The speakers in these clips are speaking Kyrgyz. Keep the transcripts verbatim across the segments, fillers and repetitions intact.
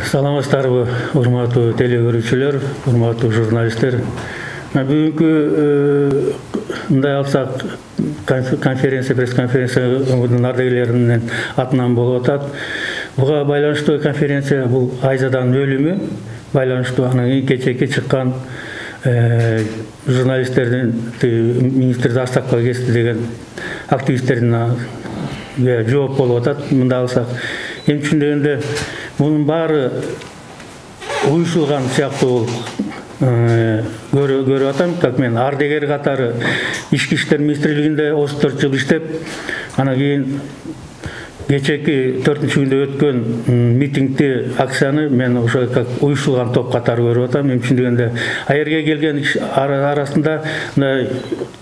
Саламатсыздарбы, урматтуу теле көрүүчүлөр, урматтуу журналисттер. Бүгүнкү мындай алсак конференция, пресс-конференция ардагерлеринин атынан болуп атат. Буга байланыштуу конференция бул Айзаданын өлүмү байланыштуу, анан кечээки чыккан журналисттердин министрди астакка кести деген активисттердин жооп болуп атат. Мындай алсак, эми түшүндүгөндө мунун баары уюшулган сыяктуу көрүп атам. Как мен ардагер катары ички иштер министрлигинде отуз төрт жыл иштеп, анан кийин кечээки төртүнчү күндө өткөн митингди, акцияны мен ошо как уюшулган топ катары көрүп атам. Эми түшүндүгөндө а жерге келген арасында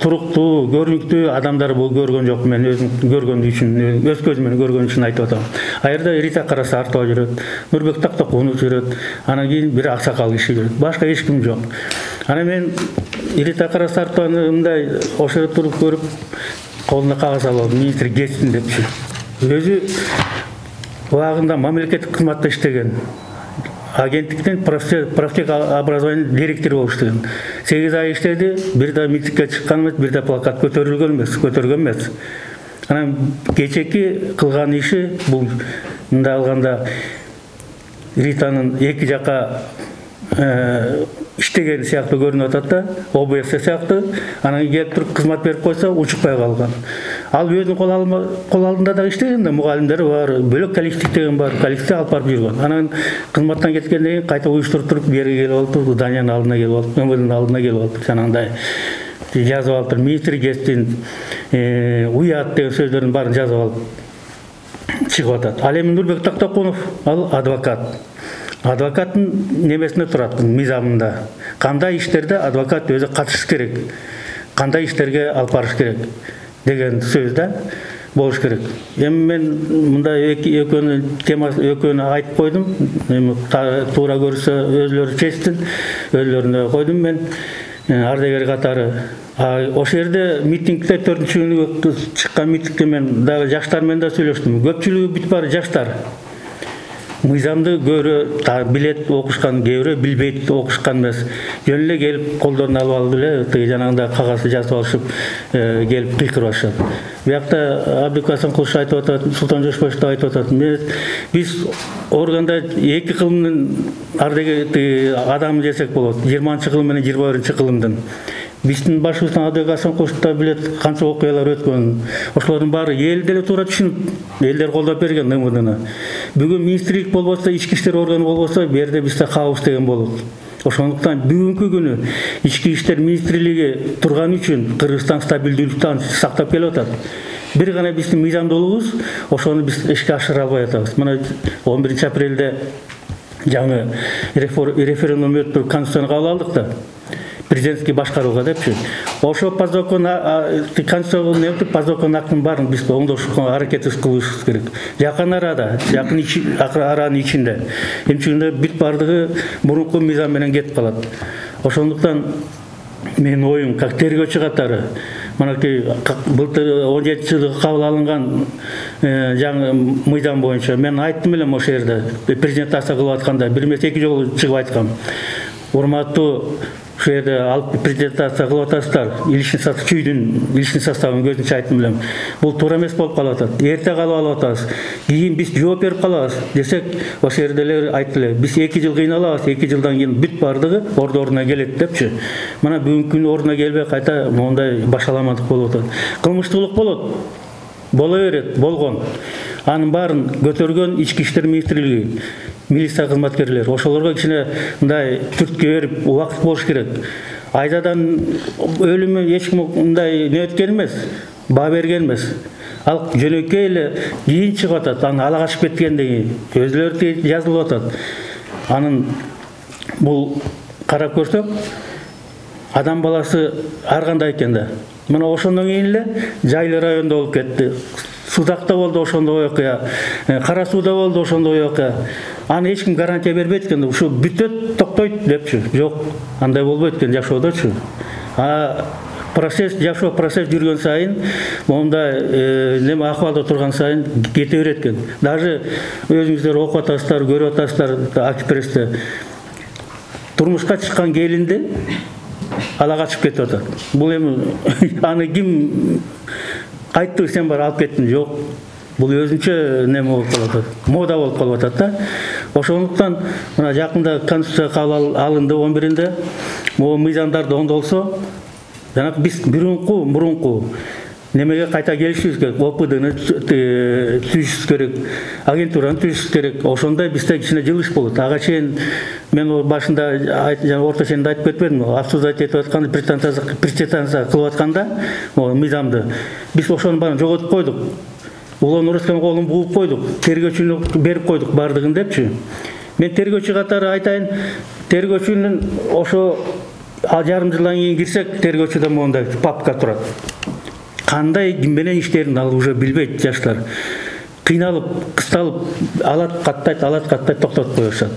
туруктуу, көрүнүктүү адамдар бул көргөн жок. Мен өзүм көргөн үчүн, өз көзүм менен көргөн үчүн айтып атам. А жерде Рита Карасартова жүрөт, Нурбек Тактакунов жүрөт, анан кийин бир аксакал киши жүрөт. Башка эч ким жок. Анан мен Рита Карасартованы мындай ошо туруп көрүп, колуна кагаз алып алдым, министр кетсин депчи. Өзү убагында мамлекеттик кызматта иштеген, агенттиктин профтех образование директору болуп иштеген. сегиз ай иштеди, бир да митингге чыккан эмес, бир да плакат көтөрүлгөн эмес, көтөргөн эмес. Анан кечээки кылган иши бул мындай алганда Ританын эки жака иштеген сыяктуу көрүнүп атат да, О Б С сыяктуу. Анан келип туруп кызмат берип койсо учукпай калган. Ал өзүнүн кол алдында да иштеген да, мугалимдери бар, бөлөк коллектив деген бар, коллективди алып барып жүргөн. Анан кызматтан кеткенден кийин кайта уюштуруп туруп берге келип алып, Даниянын алдына келип алып, Өмөлдүн алдына келип алып, жанагындай жазып алып, министр кетсин, уят деген сөздөрдүн баарын жазып алып чыгып атат. Ал эми Нурбек Тактакунов, ал адвокат. Адвокаттын немесинде турат, мыйзамында. Кандай иштерде адвокат өзү катышыш керек, кандай иштерге алып барыш керек деген сөз да болуш керек. Эми мен мындай экөөнү темасы экөөнү айтып койдум. Эми туура көрсө өзүлөрү чечсин, өзүлөрүнө койдум мен ардагер катары. Ошол жерде митингде төртүнчү күнү чыккан митингде мен дагы жаштар менен да сүйлөштүм. Көпчүлүгү бүт баары жаштар. Мыйзамды көбүрөөк билет, окушкан, кээ бирөө билбейт, окушкан эмес. Жөн эле келип колдоруна алып алып эле жанагындай кагазды жазып алышып келип кыйкырып атышат. Биякта Абдыкасым Кулуш айтып атат, Султан Жошбаев да айтып атат. Биз органда эки кылымдын ардагер адам десек болот. жыйырманчы кылым менен жыйырма биринчи кылымдын. Биздин башыбыздан Абдыкасым Кулуш да билет канча окуялар өткөн. Ошолордун баары эл деле туура түшүнүп, элдер колдоп берген М Вдны. Бүгүн министрлик болбосо, ички иштер органы болбосо, бу жерде бизде кабыз деген болот. Ошондуктан бүгүнкү күнү ички иштер министрлиги турган үчүн Кыргызстан стабилдүүлүктү сактап келип атат. Бир гана биздин мыйзамдуулугубуз, ошону биз ишке ашыра албай атабыз. Мына он биринчи апрелде жаңы референдум өтүп конституцияны кабыл алдык да. Президентский башкарууга депчи. Ошо по закону конституцияны өтүп, по закону актын баарын биз оңдошко аракет кылышыбыз керек. Жакын арада, жакын аранын ичинде. Эмчегинде бүт бардыгы мурунку мыйзам менен кетип калат. Ошондуктан менин оюм как тергөөчү катары, манакей былтыр он жетинчи жылы кабыл алынган жаңы мыйзам боюнча мен айттым элем ошол жерде, презентация кылып атканда бир эмес эки жолу чыгып айткам. Урматтуу ошол жерде алып презентация кылып атасыздар, личный состав чүйдүн личный составын көзүнчө айттым элем. Бул туура эмес болуп калып атат. Эрте калып алып атабыз. Кийин биз жооп берип калабыз десек, ошол жерде эле айтты эле. Биз эки жыл кыйналабыз, эки жылдан кийин бүт бардыгы орду ордуна келет депчи. Мына бүгүнкү күнү ордуна келбей кайта мондай башаламандык болуп атат. Кылмыштуулук болот. Боло берет, болгон. Анын баарын көтөргөн ички иштер министрлиги, милиция кызматкерлери, ошолорго кичине мындай түрткү берип, убакыт болуш керек. Айзадан өлүмү эч ким мындай не өткөн эмес, баа берген эмес. Ал жөнөкөй эле кийин чыгып атат, аны ала качып кеткенден кийин өзүлөрү жазылып атат. Анын бул карап көрсөк, адам баласы ар кандай экен да. Мына ошондон кийин эле Жайлы районунда болуп кетти. Судакта болду ошондой окуя, Кара сууда болду ошондой окуя. Аны эч ким гарантия бербейт экен, ушу бүтөт, токтойт депчи. Жок, андай болбойт экен жашоодочу. А процесс жашоо процесс жүргөн сайын мондай неме акыбалда турган сайын кете берет экен. Даже өзүңүздөр окуп атасыздар, көрүп атасыздар Акипрессте. Турмушка чыккан келинди ала качып кетип атат. Бул эми аны ким айтты, сен бар алып кеттиң? Жок. Бул өзүнчө неме болуп калат, мода болуп калып атат да. Ошондуктан мына жакында конституция кабыл алынды он биринде. Могу мыйзамдарды оңдолсо, жана биз бирунку мурунку немеге кайта келишибиз керек. О П Дны түзүшүбүз керек, агентураны түзүшүбүз керек. Ошондой бизде кичине жылыш болот. Ага чейин мен башында жана орто чейинде айтып кетпедимби? Обсуждать этип атканда, презентация кылып атканда мыйзамды биз ошонун баарын жоготуп койдук. Улан Урускан колун бугуп койдук, тергөөчүнү берип койдук бардыгын депчи. Мен тергөөчү катары айтайын, тергөөчүнүн ошо жарым жылдан кийин кирсек, тергөөчүдө мондай папка турат. Кандай ким менен иштерин ал уже билбейт жаштар. Кыйналып, кысталып, алат каттайт, алат каттайт, токтотуп коюшат.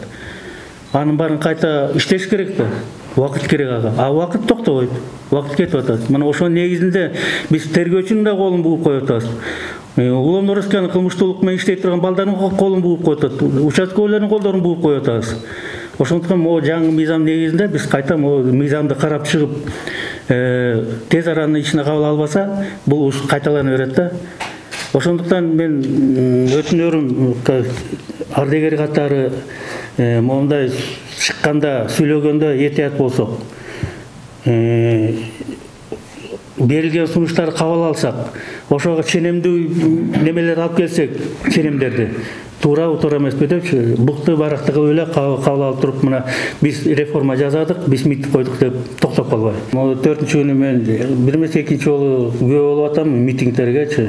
Анын баарын кайта иштеш керек да. Убакыт керек ага. А убакыт токтобойт. Убакыт кетип атат. Мына ошонун негизинде биз тергөөчүнүн да колун бугуп коюп атабыз. Улан Урускан кылмыштуулук менен иштей турган балдардын колун бугуп коюп атат. Участкалардын колдорун бугуп коюп атабыз. Ошондуктан могу жаңы мыйзам негизинде биз кайта могу мыйзамды карап чыгып, тез аранын ичине кабыл албаса, бул кайталана берет да. Ошондуктан мен өтүнөрүм ардегер катары мондай чыкканда, сүйлөгөндө этият болсок. Берилген сунуштарды кабыл алсак, ошого ченемдүү немелер алып келсек, ченемдерди туурабы, туура эмеспи депчи, букту баракты кылып эле кабыл алып туруп, мына биз реформа жасадык, биз митинг койдук деп токтоп калбай. Могу төртүнчү күнү мен бир эмес экинчи жолу күбө болуп атам митингдергечи.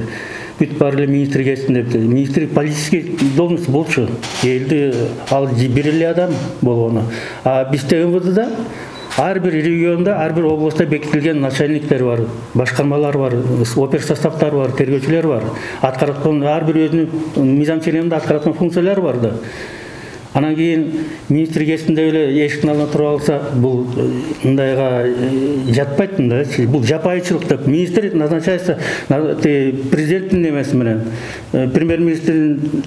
Бүт баары эле министр келсин депти. Министр политический должность болчу. Элди ал бир эле адам болгону. А бизде М В Дда ар бир региондо, ар бир областта бекитилген начальниктер бар, башкармалар бар, опер составтар бар, тергөөчүлөр бар. Аткарткан ар бир өзүнүн мыйзам ченеминде аткарткан функциялары бар да. Анан кийин министр келсин деп эле эшиктин алдына туруп алса, бул мындайга жатпайт да. Бул жапайычылык деп. Министр назначается президенттин немеси менен, премьер-министрдин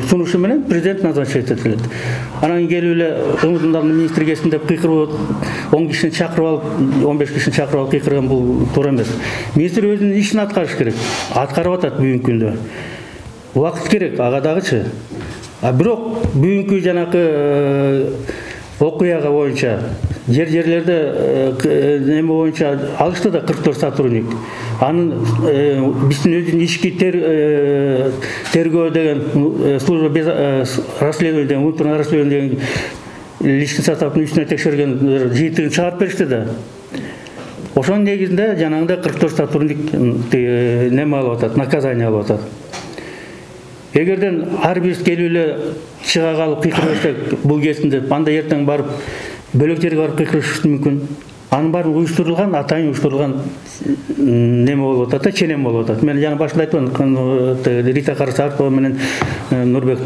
сунушу менен президент назначать этилет. Анан келип эле ымдын министр келсин деп кыйкырып он кишини чакырып алып, он беш кишини чакырып алып кыйкырган бул туура эмес. Министр өзүнүн ишин аткарыш керек. Аткарып атат бүгүнкү күндө. Убакыт керек ага дагычы. А бирок бүгүнкү жанакы окуяга боюнча жер-жерлерде неме боюнча алышты да кырк төрт сотрудник. Анын биздин өзүнүн ички тергөө деген служба без расследования деген, внутреннее расследование деген личный составдын үстүнө текшерген жыйынтыгын чыгарып беришти да. Ошонун негизинде жанагындай кырк төрт сотрудник неме алып атат, наказание алып атат. Эгерден ар бирибиз келип эле чыга калып кыйкырып берсек, бул келсин деп, анда эртең барып бөлөк жерге барып кыйкырышыбыз мүмкүн. Анын баары уюштурулган, атайын уюштурулган неме болуп атат да, ченем болуп атат. Мен жана башында айттым, Рита Карасартова менен Нурбек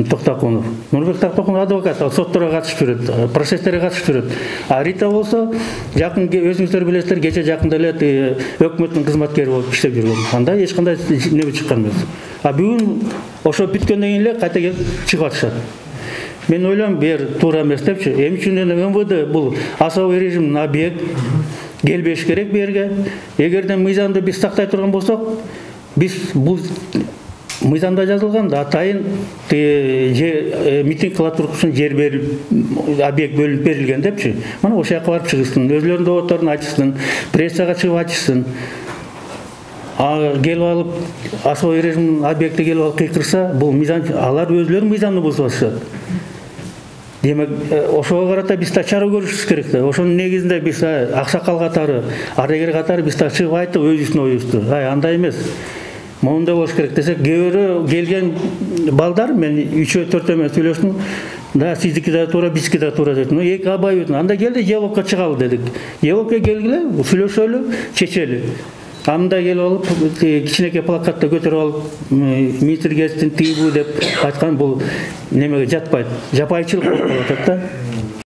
Токтокунов. Нурбек Токтокунов адвокат, сотторго катышып жүрөт, процесстерге катышып жүрөт. А Рита болсо, жакын өзүңүздөр билесиздер, кече жакында эле өкмөттүн кызматкери болуп иштеп жүргөн. Анда эч кандай неме чыккан эмес. А бүгүн ошо бүткөндөн кийин эле кайта келип чыгып атышат. Мен ойлойм, бир туура эмес депчи. Эми үчүн эле М В Д бул особый режимдин объект, келбеш керек бу жерге. Эгерде мыйзамды биз сактай турган болсок, биз бул мыйзамда жазылган да атайын митинг кыла туруш үчүн жер берилип, объект бөлүнүп берилген депчи. Мына ошол жака барып чыгышсын, өзлөрүнүн доводдорун айтышсын, прессага чыгып айтышсын. А келип алып особый режим объекти келип алып кыйкырса, бул мыйзам, алар өзлөрү мыйзамды бузуп атышат. Демек, ошого карата биз да чара көрүшүбүз керек да. Ошонун негизинде биз аксакал катары, ардегер катары биз да чыгып айттык өзүбүздүн оюбузду. Ай, андай эмес. Моундай болуш керек десек, кээ келген балдар, мен үчөө төртөө менен сүйлөштүм. Да, сиздики да туура, биздики да туура дедим. Ну, эки абай үтүн. Анда келди, диалогко чыгалы дедик. Диалогко келгиле, сүйлөшөлү, чечели. Анда келип алып, кичинекей плакатты көтөрүп алып, министр келсин, тыйбу деп айткан бул немеге жатпайт. Жапайчылык болуп атат да.